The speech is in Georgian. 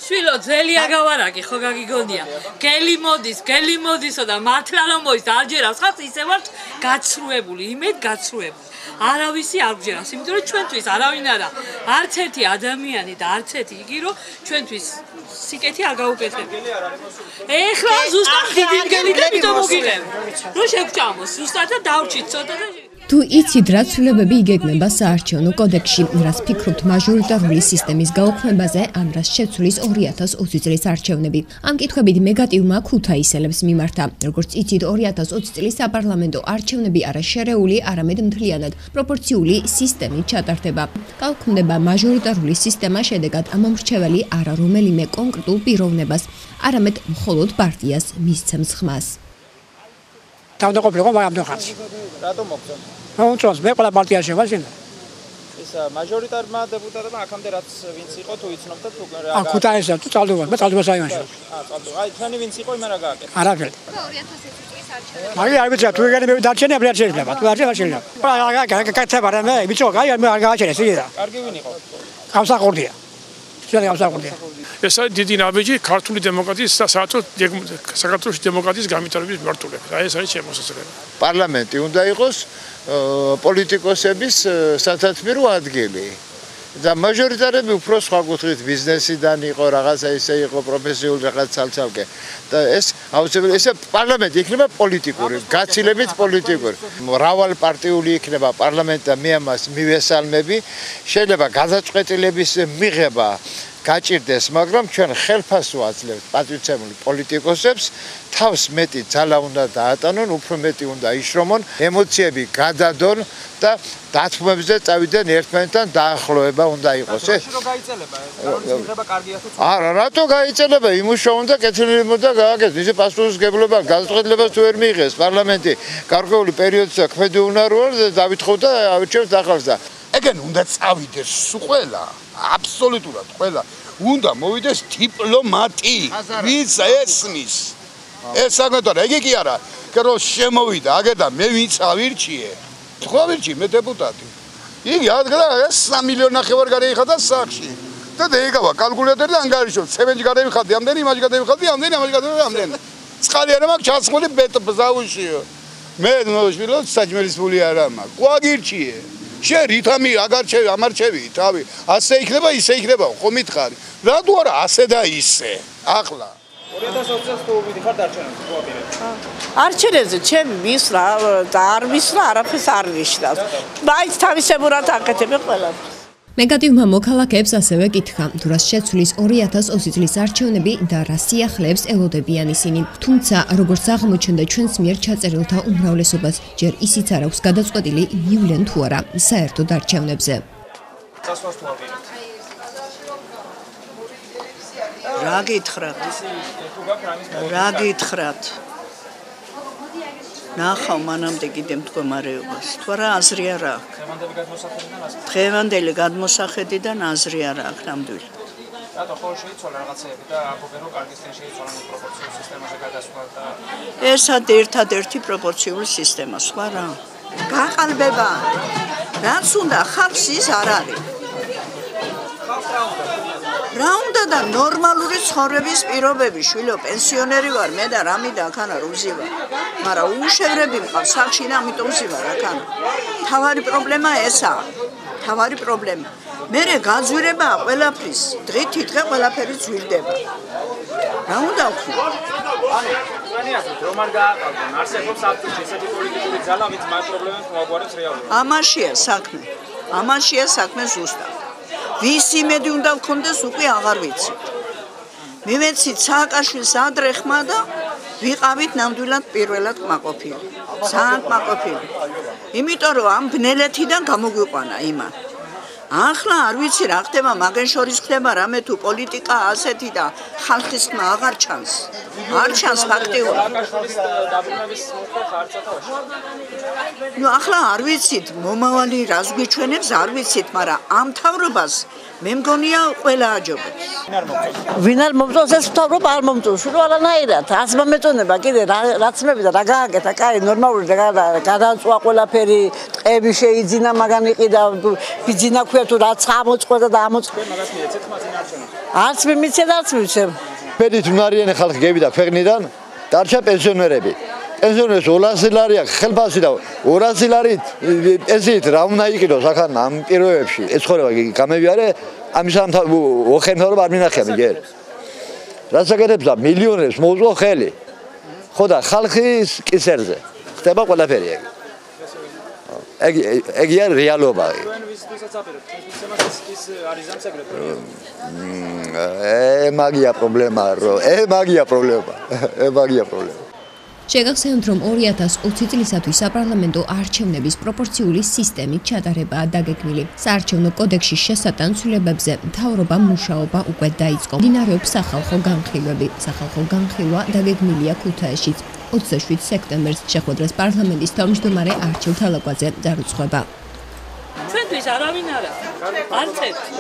შვილო ძელი აგავარაკი ხო გაგიგონია გელი მოდისო და მართლა რომ მოის არჯერავს ხალხს ისე ვართ გაცრუებული იმედ გაცრუებული არავისი არ გჯერავს იმიტომ რომ ჩვენთვის არავინ არა არც ერთი ადამიანი და არც ერთი იგი რომ ჩვენთვის სიკეთი არ გაუკეთებია ეხლა ზუსტად დიდი მგელი და მით მოგიღებ რომ შეგჭამოს ზუსტად და დავრჩით ცოტა და თუ იცით რა ცვლილებები იგეგმება საარჩევნო კოდექსში, რას ფიქრობთ მაჟორიტარული სისტემის გაუქმებაზე, ან რას შეცვლის 2020 წლის არჩევნები. ამ კითხვებით მეგატივმა ქუთაისელებს მიმართა. როგორც იცით, 2020 წლის საპარლამენტო არჩევნები არა შერეული, არამედ მთლიანად პროპორციული სისტემით ჩატარდება. გაუქმდება მაჟორიტარული სისტემა შედეგად ამომრჩეველი არა რომელიმე კონკრეტულ პიროვნებას, არამედ მხოლოდ პარტიას მისცემს ხმას. თავდაყოფილიყო მაგამდე ხანს. რატომ მოგწონთ? მოუწონს მე ყველა პარტიაში ვარ შენ. ეს მაჟორიტარმა დეპუტატებმა აქამდე რაც ვინც იყო თუ იცნობთ თუ რა. ა ქუთაისში თუ წალდობა, მე წალდობა საიმანში. წალდობა. აი თქვენი ვინც იყო იმენ რა გააკეთა? არაფერი. 2020 წლის არჩევნები. მაგ არ ვიცი თუ ეგენი მე დარჩენი არ შეიძლება. თუ არ შეიძლება. კაცება რა მე ვიცი რა აი მე არ გააჩერეს იგივე. კარგი ვინ იყო? გამსახურდია. გამსახურდია. ეს არის დიდი ნაბიჯი ქართული დემოკრატიის და საქართველოს დემოკრატიის გამიტარების მართულებით. აი ეს არის შემოსაზრება. პარლამენტი უნდა იყოს პოლიტიკოსების სათათბირო ადგილი. და მაჟორიტარები უფრო სხვა კუთხით ბიზნესიდან იყო, რაღაცა ისე იყო, პროფესიული რაღაც ცალ-ცალკე. და ეს აუცილებლად ესე პარლამენტი იქნება პოლიტიკური, გაცილებით პოლიტიკური. მრავალპარტიული იქნება პარლამენტი და მე ამას მივესალმები. შეიძლება გადაწყვეტილების მიღება გაჭირდეს, მაგრამ ჩვენ ხელფასს ვაძლევთ პატრიოტული პოლიტიკოსებს, თავს მეტი ძალა უნდა დაატანონ, უფრო მეტი უნდა იშრომონ, ემოციები გადადონ და დათმობებზე წავიდნენ ერთმანეთთან დაახლოება უნდა იყოს. რა გაიწელება ეს? მიღება კარგია თუ ცუდია? არა, რატო გაიწელება? იმუშაონ და კეთილი უნდა გააკეთოს. ისე პასუხისმგებლობა გადაწყვეტილებას თუ ვერ მიიღეს პარლამენტი გარკვეული პერიოდისა ქმედი უნაროა და დავითხოვ და ავირჩევთ ახალს და ეგენ უნდა წავიდეს ყველა აბსოლუტურად ყველა უნდა მოვიდეს დიპლომატი ვის ესმის ეს საკუთარ ეგ კი არა რომ შემოვიდა აგერ და მე ვინც ავირჩიე თქვა ვირჩი მე დეპუტატი იგი ადგა 3 მილიონი ნახევარ გადაიხადა სახში და დაიგავა კალკულატორი და ანგარიშო ცემენტი გადაიხადი ამდენი იმაში გადაიხადი ამდენი ამაში გადაიხადი ამდენი წყალი არა მაქვს ჩასხმული ბზაუშიო მე ნოშვილო საჭმელის ფული არა მაქვს ყვაგირჩიე შე რითამი აგარჩევი ამარჩევი თავი ასე იქნება ისე იქნება ხომ მითხარი რატო არა ასე და ისე ახლა 2020 წელს თუ მიდიხარ არჩევნებზე თუ აპირებ არჩევნებზე ჩემი მისვლა და არ მისვლა არაფერს არ ნიშნავს მაინც თავისებურად აკეთებ ყველაფერს მეგატივმა მოქალაქეებს ასევე კითხა, თუ რას შეცვლის 2020 წლის არჩევნები და რა სიახლეებს ელოდებიან ისინი. თუმცა, როგორც აღმოჩნდა ჩვენს მიერ ჩაწერილთა უმრავლესობას, ჯერ ისიც არ აქვს გადაწყვეტილი მივლენ თუ არა საერთოდ არჩევნებზე. წასვლას თუ აპირებთ? რა გითხრათ? რა გითხრათ? ნახავ მანამდე კიდე მდგომარეობას. თუ არა აზრი არ აქვს. დღევანდელი გადმოსახედიდან აზრი არ აქვს ნამდვილად. რატო ხო შეიცვალა რაღაცეები და ამბობენ რომ კარგისკენ შეიცვალა პროპორციულ სისტემაზე გადასვლა და ესად ერთადერთი პროპორციული სისტემა სხვა რა. გაყალბება. რაც უნდა ხალხს ის არ არის. რა უნდა და ნორმალური ცხოვრების პირობები შვილო პენსიონერი ვარ მე და რამიდა ახანა რუზი ვარ მაგრამ უშევრები მყავს სახში და ამიტომ ვარ ახანა თავარი პრობლემა ესაა თავარი პრობლემა მე გაძვირება ყველაფრის დღითი დღე ყველაფერი ძვირდება რა უნდა ვქნა ანუ რომ არ გააყალბონ არსებობს აქტუში ესეთი პოლიტიკური ძალა ვინც მაგ პრობლემებს მოაგვარებს რეალურად ამაშია საქმე ზუსტად ვის იმედი უნდა გქონდეს უკვე აღარ ვიცი. მივეცით სააკაშვილს ადრეხმა და ვიყავით ნამდვილად პირველად კმაყოფილი. ძალიან კმაყოფილი. იმიტომ რომ ამ ბნელეთიდან გამოგვიყვანა იმან. ახლა არ ვიცი რა ხდება, მაგენ შორის ხდება რამე თუ პოლიტიკა ასეთი და ხალხის ხმა აღარ ჩანს. არ ჩანს ფაქტიურად. სააკაშვილის დაბრუნების მოხდა ხარცათავში. ახლა არ ვიცით, მომავალი რას გვიჩვენებს, არ ვიცით, მაგრამ ამ თავრობას მე მგონია ყველა აჯობებს. ვინ არ მომწონს ეს მთავრობა არ მომწონს რომ არანაირად აცმა მეწონება კიდე რაც მებიდა რა გააკეთა კაი ნორმალური გადაწვა ყველაფერი ტყები შეიძინა მაგან იყიდა ბიძინა ქვია თუ რაც ამოწყდა და ამოწყდა მაგას მიეცეთ ხმაზე არჩევნები არც მიმიცეთ არც მივცემ ფედით უნარიანი ხალხი გევიდა ქვეყნიდან დარჩა პენსიონერები პენსიონერებს 200 ლარი აქვს ხელფასი და 200 ლარი პენსიით რა უნდა იყიდოს ახლა ამ პირობებში ეს ხორება გამევიარე ამისამ ოხენთავრობა არ მინახია ჯერ რაც აკეთებს და მილიონერებს მოუწყო ხელი ხო და ხალხის კისერზე ხდება ყველაფერი ეგია რეალობა თქვენ ვისაც აპირებთ თვითონაც ის არის ამსაგრებო მაგია პრობლემა მაგია პრობლემა შეგახსენოთ, რომ 2020 წლისათვის საპარლამენტო არჩევნების პროპორციული სისტემით ჩატარებაა დაგეგმილი. საარჩევნო კოდექსის შესატანცვლებებზე მთავრობამ მუშაობა უკვე დაიწყო. მიმდინარეობს სახალხო განხილვები. სახალხო განხილვა დაგეგმილია ქუთაისშიც 27 სექტემბერს შეხვედრას პარლამენტის თავმჯდომარე არჩილ თალაკვაძე დარუცხება. ჩვენთვის არავინ არა. არც ერთი